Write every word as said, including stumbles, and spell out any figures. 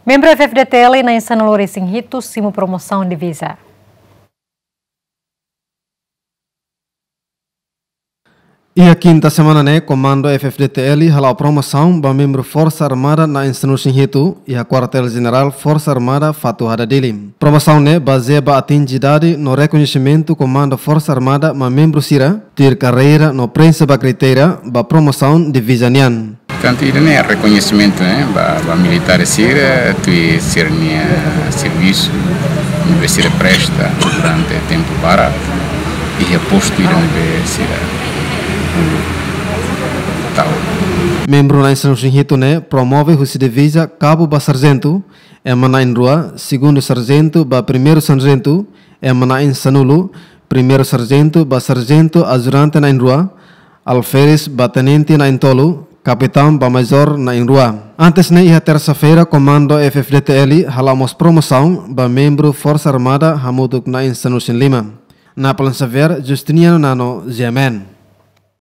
Membru F-FDTL na'in sanulu-resin-hitu simu promosaun diviza. Iha kinta semana ne'e, Komandu F-FDTL hala'o promosaun ba membru Forsa Armada na'in sanulu-resin-hitu iha Kuartél Jenerál Forsa Armada Fatuhada Dili. Promosaun ne'e bazeia ba atinje idade no rekoñesimentu Komandu Forsa Armada mak membru sira tuir karreira no preenxe ba kritéria ba promosaun diviza nian. Portantu, ida-ne'e rekoñesimentu, ne'e, ba, ba militár sira, tuir sira-nia servisu ne'ebé sira presta durante tempu barak, iha postu ida ne'ebé sira tau. Membru na'in sanulu-resin-hitu ne'e promove husi diviza kabu ba sarjentu, ema na'in-rua, segundu sarjentu ba primeiru sarjentu, ema na'in-sanulu, primeiru sarjentu ba sarjentu ajudante na'in-rua, alferes ba tenente na'in-tolu, kapitaun ba majór na'in-rua. Antes ne'e, iha tersa-feira, Komandu F-FDTL hala'o mós promosaun ba membru Forsa Armada hamutuk na'in sanulu-resin-lima. Napoleon Xavier, Justiniano Nano, G M N.